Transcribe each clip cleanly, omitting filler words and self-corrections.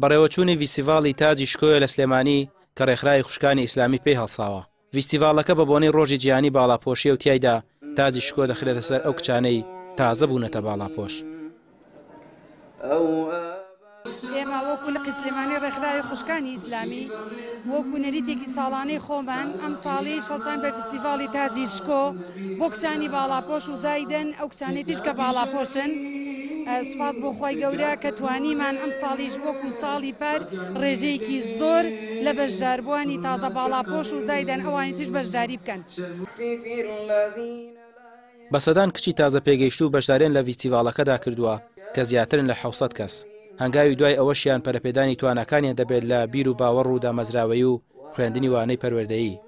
بەڕێوەچوونی ڤیستیڤاڵی تاجی شکۆیە لە سلێمانی کە ڕێکخراوی خوشکانی ئیسلامی پێی هەڵساوە. ڤیستیڤاڵەکە بە بۆنەی ڕۆژی جیهانی باڵاپۆشیە و تیایدا تاجی شکۆ دەخرێتە سەر ئەو کچانەی تازە بوونەتە باڵاپۆش. ئێمە وەکو لقی سلێمانی ڕێکخراوی خوشکانی ئیسلامی وەکو نەریتێکی ساڵانەی خۆمان ئەمساڵیش هەڵساین بە فیستیڤاڵی تاجی شکۆ بۆ کچانی باڵاپۆش و زایدن ئەو کچانەی تریش کە باڵاپۆشن سوپاس بۆ خوای گەورە کە توانیمان ئەمساڵیش وەکو ساڵی پار ڕێژەیەکی زۆر لە بەشداربووانی تازە باڵاپۆش و زایدن ئەوانی تریش بەشداری بکەن. بە سەدان کچی تازە پێگەیشتوو بەشداریان لە ڤیستیڤاڵەکەدا کردووە کە زیاترن لە 700 کەس. هەنگاوی دوای ئەوەشیان پەرەپێدانی تواناکانیان دەبێت لە بیر و باوەڕ و دامەزراوەیی و خوێندنی وانەی پەروەردەیی.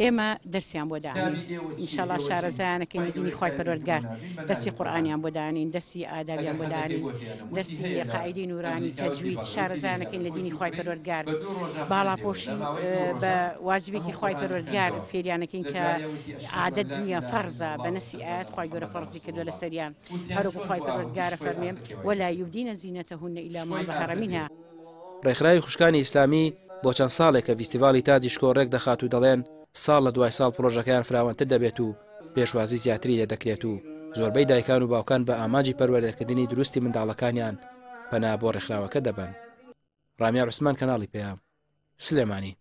ئێمە دەرسیان بۆ دانین ئینشاڵا شارەزایانەکەین لە دینی خوای پەروەردگار دەرسی قورئانیان بۆ دانین دەرسی ئادابیان بۆ دانین دەرسی قاعدەی نورانی تەجوید شارەزایانەکەین لە دینی خوای پەروەردگار باڵاپۆشی بە واجبێکی خوای پەروەردگار فێریانەکەین کە عادەت نییە فەرزە بە نەسی ئاەت خوای گەورە فەرزی کردووە لەسەریان هەروەکو خوای پەروەردگارە فەرمێ ولا یبدین زینەتهن الا ما ظهر منها. ڕێکخراوی خوشکانی ئیسلامی بۆ چەند ساڵێکە ڤیستیڤاڵی تاجی شکۆ ڕێک دەخات و دەڵێن ساڵ لە دوای ساڵ پڕۆژەکەیان فراوانتر دەبێت و پێشوازی زیاتری لێ دەکرێت و زۆربەی دایکان و باوکان بە ئامانجی پەروەردەکردنی دروستی منداڵەکانیان پەنا بۆ ڕێکخراوەکە دەبەن. ڕامیار عوسمان کەناڵی پەیام، سلێمانی.